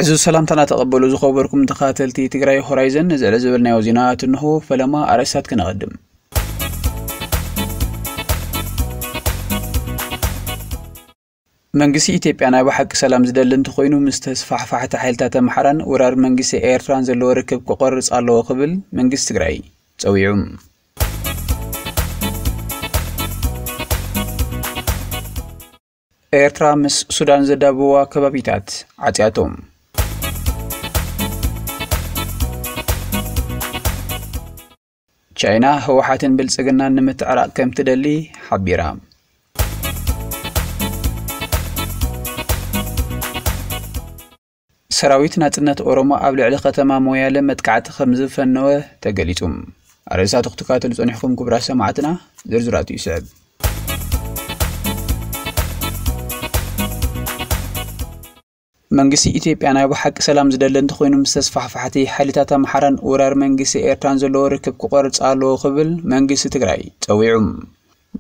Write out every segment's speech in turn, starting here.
ዕዙዝ ሰላምታና ተቐበሉ ዝኸበርኩም ተኸታተልቲ ትግራይ ሆራይዘን፣ ንዝዕለ ዝበልናዮ ዜናታት እንሆ። ፈለማ ኣርእስታት ክነቐድም። መንግስቲ ኢትዮጵያ ናይ ብሓቂ ሰላም ዝደሊ እንተኾይኑ፣ ምስ ተስፋሕፋሕቲ ሓይልታት ኣምሓራን ወራር መንግስቲ ኤርትራን ዘለዎ ርክብ ክቆርጽ ኣለዎ ክብል መንግስቲ ትግራይ ጸዊዑ። ኤርትራ ምስ ሱዳን ዘዳብዋ ከባቢታት ዓጽያቶም። ቻይና ህወሓትን ብልጽግናን ንምትዕራቕ ከም ትደሊ ሓቢራ። ሰራዊት ናጽነት ኦሮሞ ኣብ ልዕሊ ከተማ ሞያለ መጥቃዕቲ ከም ዝፈነወ ተገሊጹ። ኣርእስታቱ ክትከታተሉ ጸኒሕኩም ክቡራት ሰማዕትና፣ ዝርዝራቱ ይስዕብ። መንግስቲ ኢትዮጵያ ናይ ብሓቂ ሰላም ዝደሊ እንተኾይኑ፣ ምስ ተስፋሕፋሕቲ ሓይልታት ኣምሓራን ወራር መንግስቲ ኤርትራን ዘለዎ ርክብ ክቆርጽ ኣለዎ ክብል መንግስቲ ትግራይ ጸዊዑ።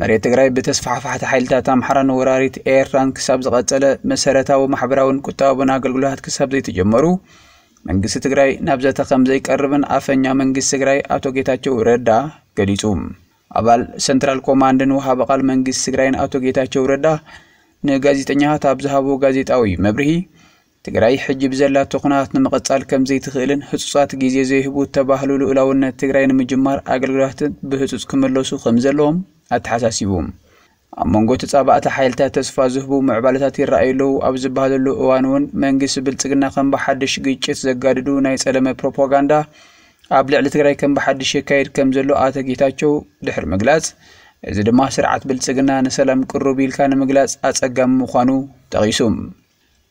መሬት ትግራይ ብተስፋሕፋሕቲ ሓይልታት ኣምሓራን ወራሪት ኤርትራን ክሳብ ዝቐጸለ፣ መሰረታዊ ማሕበራውን ቁጠባውን ኣገልግሎታት ክሳብ ዘይተጀመሩ፣ መንግስቲ ትግራይ ናብ ዘተ ከም ዘይቀርብን ኣፈኛ መንግስቲ ትግራይ ኣቶ ጌታቸው ረዳ ገሊጹ። ኣባል ሰንትራል ኮማንድን ወሃቢ ቃል መንግስቲ ትግራይን ኣቶ ጌታቸው ረዳ ንጋዜጠኛታት ኣብ ዝሃቦ ጋዜጣዊ መብርሂ፣ ትግራይ ሕጂ ብዘላቶ ኩነታት ንምቕጻል ከም ዘይትኽእልን ህጹጻት ግዜ ዘይህቡ እተባህሉ ልኡላውነት ትግራይ ንምጅማር ኣገልግሎታትን ብህጹጽ ክምለሱ ከም ዘለዎም ኣተሓሳሲቡ። ኣብ መንጎ ተጻባእቲ ሓይልታት ተስፋ ዝህቡ ምዕባለታት ይረኣዩ ኣለዉ ኣብ ዝበሃለሉ እዋን እውን መንግስቲ ብልጽግና ከም ብሓድሽ ግጭት ዘጋድዱ ናይ ጸለመ ፕሮፓጋንዳ ኣብ ልዕሊ ትግራይ ከም ብሓድሽ የካይድ ከም ዘሎ ኣቶ ጌታቸው ድሕሪ ምግላጽ፣ እዚ ድማ ስርዓት ብልጽግና ንሰላም ቅሩብ ኢልካ ንምግላጽ ኣጸጋሚ ምዃኑ ጠቒሱ።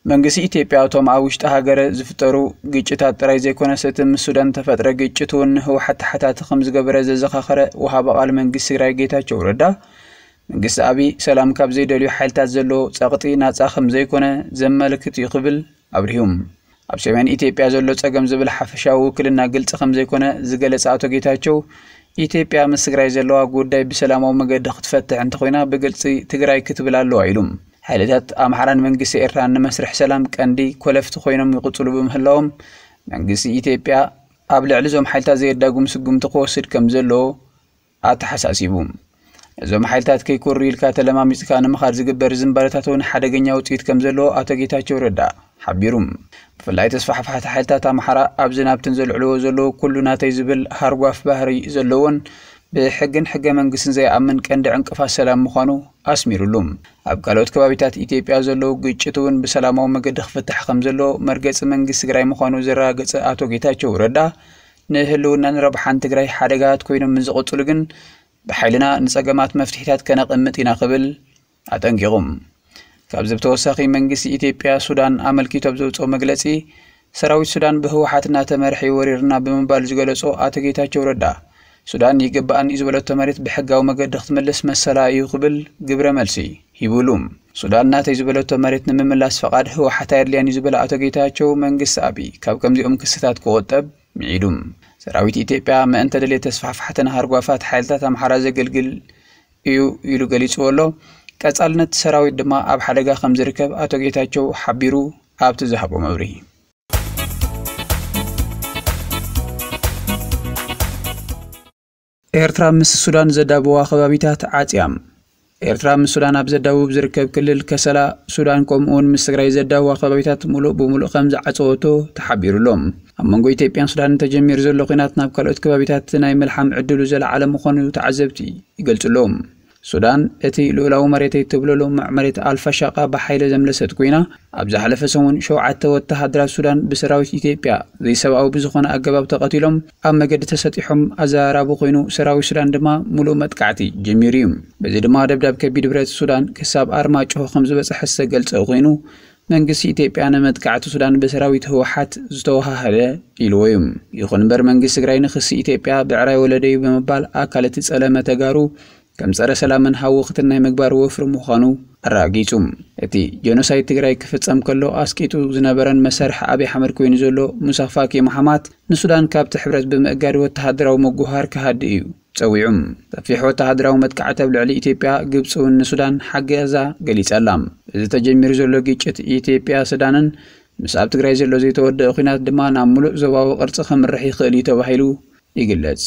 መንግስቲ ኢትዮጵያ እቶም ኣብ ውሽጢ ሃገር ዝፍጠሩ ግጭታት ጥራይ ዘይኮነስ፣ እቲ ምስ ሱዳን ተፈጥረ ግጭት እውን ንህወሓት ተሓታቲ ከም ዝገበረ ዘዘኻኸረ ወሃቢ ቃል መንግስቲ ትግራይ ጌታቸው ረዳ፣ መንግስቲ ኣብይ ሰላም ካብ ዘይደልዩ ሓይልታት ዘሎ ጸቕጢ ናጻ ከም ዘይኮነ ዘመልክት እዩ ክብል ኣብሪሁ። ኣብ ሰሜን ኢትዮጵያ ዘሎ ጸገም ዝብል ሓፈሻዊ ውክልና ግልጺ ከም ዘይኮነ ዝገለጸ ኣቶ ጌታቸው፣ ኢትዮጵያ ምስ ትግራይ ዘለዋ ጉዳይ ብሰላማዊ መገዲ ክትፈትሕ እንተኾይና ብግልጺ ትግራይ ክትብል ኣለዋ ኢሉ። ሓይልታት ኣምሓራን መንግስቲ ኤርትራን ንመስርሕ ሰላም ቀንዲ ኮለፍቲ ኮይኖም ይቕጽሉ ብምህላዎም፣ መንግስቲ ኢትዮጵያ ኣብ ልዕሊ እዞም ሓይልታት ዘየዳጉም ስጉምቲ ክወስድ ከም ዘለዎ ኣተሓሳሲቡ። እዞም ሓይልታት ከይኩሩ ኢልካ ተለማሚጽካ ንምኻድ ዝግበር ዝንባለታት እውን ሓደገኛ ውጽኢት ከም ዘለዎ ኣቶ ጌታቸው ረዳ ሓቢሩ። ብፍላይ ተስፋሕፋሕቲ ሓይልታት ኣምሓራ ኣብዝን ኣብትን ዘልዕልዎ ዘለዉ ኩሉ ናተይ ዝብል ሃርጓፍ ባህሪ ዘለዎን ብሕግን ሕገ መንግስትን ዘይኣምን ቀንዲ ዕንቅፋት ሰላም ምዃኑ ኣስሚሩሉ። ኣብ ካልኦት ከባቢታት ኢትዮጵያ ዘለዉ ግጭት እውን ብሰላማዊ መገዲ ክፍታሕ ከም ዘለዎ መርገጺ መንግስቲ ትግራይ ምዃኑ ዘረጋገጸ ኣቶ ጌታቸው ረዳ፣ ንህልውናን ረብሓን ትግራይ ሓደጋታት ኮይኖም ምስ ዝቕጽሉ ግን ብሓይልና ንጸገማት መፍትሒታት ከነቐምጥ ኢና ክብል ኣጠንቂቑ። ካብዚ ብተወሳኺ መንግስቲ ኢትዮጵያ ሱዳን ኣመልኪቱ ኣብ ዘውፅኦ መግለፂ፣ ሰራዊት ሱዳን ብህወሓት እናተመርሐ እዩ ወሪርና ብምባል ዝገለጾ ኣቶ ጌታቸው ረዳ፣ ሱዳን ይግባኣን እዩ ዝበለቶ መሬት ብሕጋዊ መገዲ ክትምልስ መሰላ እዩ ክብል ግብረ መልሲ ሂቡሉ። ሱዳን ናተይ ዝበለቶ መሬት ንምምላስ ፈቓድ ህወሓት ኣየድልያን እዩ ዝበለ ኣቶ ጌታቸው፣ መንግስቲ ኣብይ ካብ ከምዚኦም ክስታት ክቑጠብ ምዒዱ። ሰራዊት ኢትዮጵያ ምእንተ ድሌት ተስፋሕፋሕትን ሃርጓፋት ሓይልታት ኣምሓራ ዘገልግል እዩ ኢሉ ገሊጽዎ ኣሎ። ቀጻልነት ሰራዊት ድማ ኣብ ሓደጋ ከም ዝርከብ ኣቶ ጌታቸው ሓቢሩ ኣብቲ ዝሃቦ መብርሂ። ኤርትራ ምስ ሱዳን ዘዳብዋ ከባቢታት ዓጽያ። ኤርትራ ምስ ሱዳን ኣብ ዘዳውብ ዝርከብ ክልል ከሰላ፣ ሱዳን ከምኡውን ምስ ትግራይ ዘዳብዋ ከባቢታት ሙሉእ ብሙሉእ ከም ዝዓጸወቶ ተሓቢሩ ኣሎ። ኣብ መንጎ ኢትዮጵያን ሱዳንን ተጀሚሩ ዘሎ ኲናት ናብ ካልኦት ከባቢታት ናይ ምልሓም ዕድሉ ዘለዓለ ምዃኑ ተዓዘብቲ ይገልጹ ኣለዉ። ሱዳን፣ እቲ ልኡላዊ መሬተይ ትብሎ ልሙዕ መሬት ኣልፋሻቃ ብሓይሊ ዘምለሰት ኮይና፣ ኣብ ዝሓለፈ ሰሙን ሸውዓተ ወተሃደራት ሱዳን ብሰራዊት ኢትዮጵያ ዘይሰብኣዊ ብዝኾነ ኣገባብ ተቐቲሎም፣ ኣብ መገዲ ተሰጢሖም ኣዘራራቢ ኮይኑ፣ ሰራዊት ሱዳን ድማ ሙሉእ መጥቃዕቲ ጀሚሩ እዩ። በዚ ድማ ደብዳብ ከቢድ ብረት ሱዳን ክሳብ ኣርማጭሆ ከም ዝበጽሐ ዝተገልጸ ኮይኑ፣ መንግስቲ ኢትዮጵያ ንመጥቃዕቲ ሱዳን ብሰራዊት ህወሓት ዝተወሃሃደ ኢልዎ እዩ። ይኹን እምበር መንግስቲ ትግራይ ንክሲ ኢትዮጵያ ብዕራይ ወለደዩ ብምባል ኣካል እቲ ጸለመ ተጋሩ ከም ጸረ ሰላምን ሃወኽትን ናይ ምግባር ወፍሪ ምዃኑ ኣረጋጊጹ። እቲ ጀኖሳይድ ትግራይ ክፍጸም ከሎ ኣስቂጡ ዝነበረን መሳርሒ ኣብይ ኣሕመድ ኮይኑ ዘሎ ሙሳ ፋኪ መሓማት ንሱዳን ካብቲ ሕብረት ብምእጋድ ወተሃደራዊ ምጉህሃር ክሃዲ እዩ ጸዊዑ። ሰፊሕ ወተሃደራዊ መጥቃዕቲ ኣብ ልዕሊ ኢትዮጵያ፣ ግብጺ እውን ንሱዳን ሓገዛ ገሊጻ ኣላ። እዚ ተጀሚሩ ዘሎ ግጭት ኢትዮጵያ ሱዳንን ምስ ኣብ ትግራይ ዘሎ ዘይተወደአ ኲናት ድማ ናብ ምሉእ ዞባዊ ቅርጺ ከምርሕ ይኽእል እዩ ተባሂሉ ይግለጽ።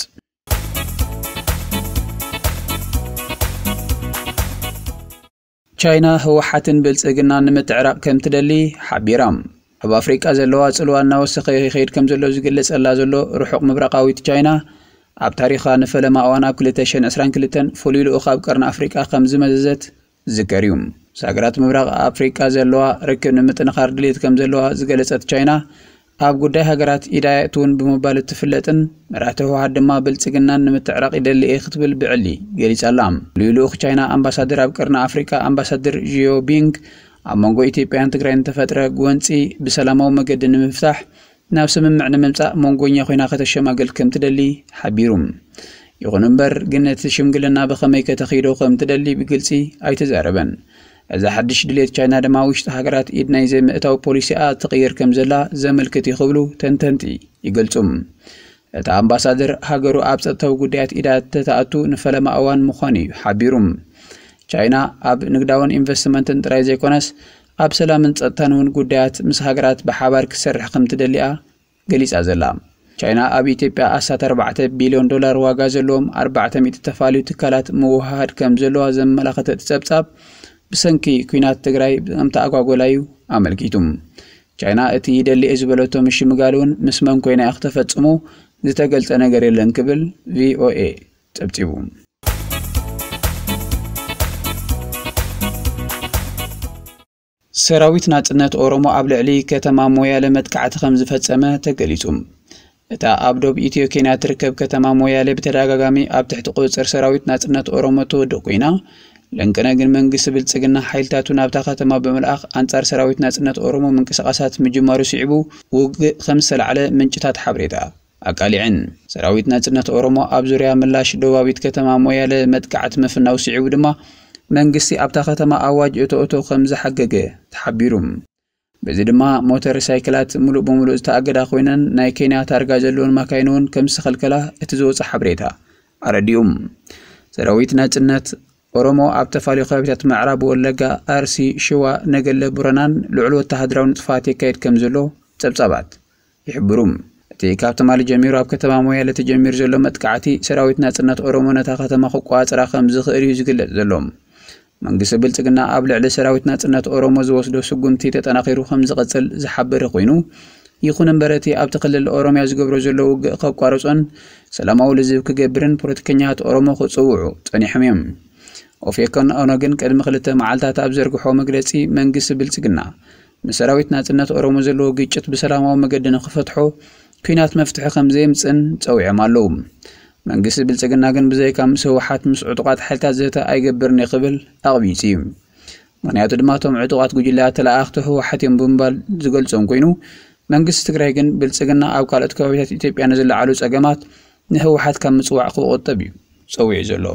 ቻይና ህወሓትን ብልጽግናን ንምትዕራቕ ከም ትደሊ ሓቢራ። ኣብ ኣፍሪቃ ዘለዋ ጽልዋ እናወሰኸ ይኸይድ ከም ዘሎ ዝግለጸላ ዘሎ ርሑቕ ምብራቓዊት ቻይና፣ ኣብ ታሪኻ ንፈለማ እዋን ኣብ ክልተ ሽሕን ዕስራን ክልተን ፍሉይ ልኡኽ ኣብ ቀርኒ ኣፍሪቃ ከም ዝመዘዘት ዝዝከር እዩ። ምስ ሃገራት ምብራቕ ኣፍሪቃ ዘለዋ ርክብ ንምጥንኻር ድሌት ከም ዘለዋ ዝገለጸት ቻይና፣ ኣብ ጉዳይ ሃገራት ኢዳ የእትውን ብምባል እትፍለጥን መራሕቲ ህወሓት ድማ ብልጽግናን ንምትዕራቕ ይደሊ እየ ክትብል ብዕሊ ገሊጻ ኣላ። ፍሉይ ልኡኽ ቻይና ኣምባሳደር ኣብ ቀርኒ ኣፍሪቃ ኣምባሳደር ዢዮ ቢንግ፣ ኣብ መንጎ ኢትዮጵያን ትግራይን ዝተፈጥረ ጎንጺ ብሰላማዊ መገዲ ንምፍታሕ ናብ ስምምዕ ንምምጻእ መንጎኛ ኮይና ከተሸማግል ከም ትደሊ ሓቢሩ። ይኹን እምበር ግን እቲ ሽምግልና ብኸመይ ከተኺዶ ከም ትደሊ ብግልጺ ኣይተዛረበን። እዚ ሓድሽ ድሌት ቻይና ድማ ውሽጢ ሃገራት ኢድ ናይ ዘይምእታው ፖሊሲኣ ትቕይር ከም ዘላ ዘመልክት እዩ ክብሉ ተንተንቲ ይገልጹ። እቲ ኣምባሳደር ሃገሩ ኣብ ጸጥታዊ ጉዳያት ኢዳ ተተኣቱ ንፈለማ እዋን ምዃኑ እዩ ሓቢሩ። ቻይና ኣብ ንግዳውን ኢንቨስትመንትን ጥራይ ዘይኮነስ ኣብ ሰላምን ጸጥታን እውን ጉዳያት ምስ ሃገራት ብሓባር ክትሰርሕ ከም ትደሊኣ ገሊጻ ዘላ። ቻይና ኣብ ኢትዮጵያ ኣስታት ኣርባዕተ ቢልዮን ዶላር ዋጋ ዘለዎም ኣርባዕተ ሚእቲ ተፋልዩ ትካላት ምውህሃድ ከም ዘለዋ ዘመላኸተ እቲ ጸብጻብ፣ ብሰንኪ ኲናት ትግራይ ከም ተኣጓጎላ እዩ ኣመልኪቱ። ቻይና እቲ ይደሊ እየ ዝበለቶ ምሽምጋል እውን ምስ መን ኮይና እያ ክተፈጽሞ ዝተገልጸ ነገር የለን ክብል ቪኦኤ ጸብጺቡ። ሰራዊት ናጽነት ኦሮሞ ኣብ ልዕሊ ከተማ ሞያለ መጥቃዕቲ ከም ዝፈጸመ ተገሊጹ። እታ ኣብ ዶብ ኢትዮ ኬንያ ትርከብ ከተማ ሞያሌ ብተደጋጋሚ ኣብ ትሕቲ ቁጽጽር ሰራዊት ናጽነት ኦሮሞ ትወድቕ ኮይና፣ ለንቅነ ግን መንግስቲ ብልጽግና ሓይልታቱ ናብታ ከተማ ብምልኣኽ ኣንጻር ሰራዊት ናጽነት ኦሮሞ ምንቅስቓሳት ምጅማሩ ስዒቡ ውግእ ከም ዝተላዕለ ምንጭታት ሓበሬታ ኣቃሊዐን። ሰራዊት ናጽነት ኦሮሞ ኣብ ዙርያ ምላሽ ደቡባዊት ከተማ ሞያለ መጥቃዕቲ ምፍናው ስዒቡ ድማ መንግስቲ ኣብታ ከተማ ኣዋጅ እቶ እቶ ከም ዝሓገገ ተሓቢሩ። በዚ ድማ ሞተር ሳይክላት ሙሉእ ብሙሉእ ዝተኣገዳ ኮይነን ናይ ኬንያ ታርጋ ዘለወን ማካይን እውን ከም ዝተኸልከላ እቲ ዝወፀ ሓበሬታ ኣረዲኡ። ሰራዊት ናጽነት ኦሮሞ ኣብ ተፋልዩ ከባቢታት ምዕራብ ወለጋ፣ ኣርሲ፣ ሽዋ፣ ነገለ፣ ቡረናን ልዑል ወተሃደራዊ ንጥፋት የካይድ ከም ዘሎ ጸብጻባት ይሕብሩ። እቲ ካብ ትማሊ ጀሚሩ ኣብ ከተማ ሞያለ ተጀሚሩ ዘሎ መጥቃዕቲ ሰራዊት ናጽነት ኦሮሞ ነታ ከተማ ክቆጻጸራ ከም ዝኽእል እዩ ዝግለጽ ዘሎ። መንግስቲ ብልጽግና ኣብ ልዕሊ ሰራዊት ናጽነት ኦሮሞ ዝወስዶ ስጉምቲ ተጠናኺሩ ከም ዝቐጽል ዝሓበረ ኮይኑ፣ ይኹን እምበር እቲ ኣብቲ ክልል ኦሮሚያ ዝገብሮ ዘሎ ውግእ ከቋርጾን ሰላማዊ ልዝብ ክገብርን ፖለቲከኛታት ኦሮሞ ክጽውዑ ጸኒሖም እዮም። ኦፌኮን ኦነግን ቅድሚ ክልተ መዓልታት ኣብ ዘርግሖ መግለጺ መንግስቲ ብልጽግና ምስ ሰራዊት ናጽነት ኦሮሞ ዘለዎ ግጭት ብሰላማዊ መገዲ ንክፈትሖ ኲናት መፍትሒ ከም ዘየምጽእን ጸዊዖም ኣለዉ። መንግስቲ ብልጽግና ግን ብዘይካ ምስ ህወሓት ምስ ዕጡቓት ሓይልታት ዘተ ኣይገብርን እዩ ክብል ኣቕቢጹ እዩ። ምኽንያቱ ድማ እቶም ዕጡቓት ጉጅለ ተለኣኣኽቲ ህወሓት እዮም ብምባል ዝገልጾም ኮይኑ፣ መንግስቲ ትግራይ ግን ብልጽግና ኣብ ካልኦት ከባቢታት ኢትዮጵያ ንዝለዓሉ ጸገማት ንህወሓት ካብ ምጽዋዕ ክቑጠብ እዩ ጸዊዑ ዘሎ።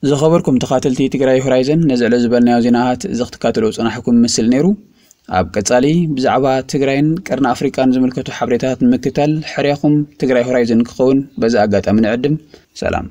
ዝኸበርኩም ተኻተልቲ ትግራይ ሆራይዘን፣ ነዚ ዕለት ዝበልናዮ ዜናታት እዚ ክትከታተልዎ ዝጸናሕኩም ምስል ነይሩ። ኣብ ቀጻሊ ብዛዕባ ትግራይን ቀርኒ ኣፍሪቃን ዝምልከቱ ሓበሬታታት ንምክታል ሕርያኹም ትግራይ ሆራይዘን ክኸውን በዚ ኣጋጣሚ ንዕድም። ሰላም።